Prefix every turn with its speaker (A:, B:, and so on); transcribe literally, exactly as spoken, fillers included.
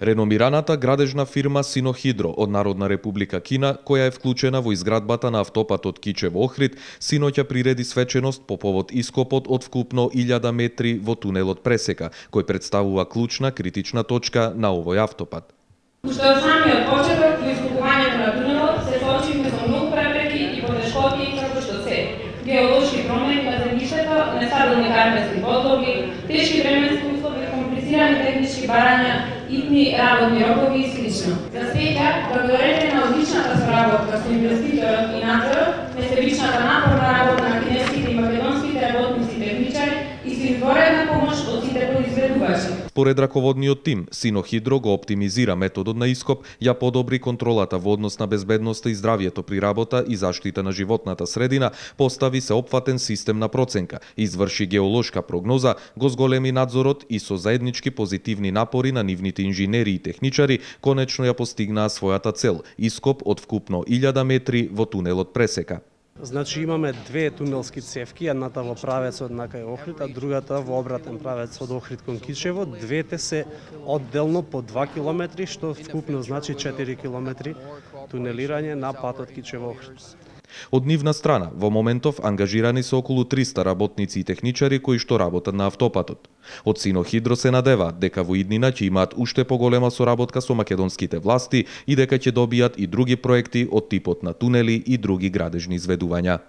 A: Реномираната градежна фирма Синохидро од Народна република Кина, која е вклучена во изградбата на автопатот Кичево-Охрид, синоќа приреди свеченост по повод ископот од вкупно илјада метри во тунелот Пресека, кој представува клучна критична точка на овој автопат.
B: Уште од самиот почеток во ископувањето на тунелот се соочивме со многу препреки и потешкоти како што се геолошки промени на земјиштето, нестабилни карпенски подлоги, тешки временски услови, комплицирани технички барања, итни работни рокови и слично. За среќа, благодарение на одличната соработка со инвеститорот и надзорот, несебичната напорна работа на кинеските и македонските работници и техничари и со изворена помош од сите произведувачи.
A: Според раководниот тим, Синохидро го оптимизира методот на ископ, ја подобри контролата во однос на безбедноста и здравието при работа и заштита на животната средина, постави се опфатен систем на проценка, изврши геолошка прогноза, го зголеми надзорот и со заеднички позитивни напори на нивните инженери и техничари, конечно ја постигнаа својата цел – ископ од вкупно илјада метри во тунелот Пресека.
C: Значи имаме две тунелски цевки, едната во правецот на кај Охрид, а другата во обратен правец од Охрид кон Кичево. Двете се одделно по два километри, што вкупно значи четири километри тунелирање на патот Кичево-Охрид.
A: Од нивна страна, во моментов ангажирани се околу триста работници и техничари кои што работат на автопатот. Од Синохидро се надеваат дека во иднина ќе имаат уште поголема соработка со македонските власти и дека ќе добијат и други проекти од типот на тунели и други градежни изведувања.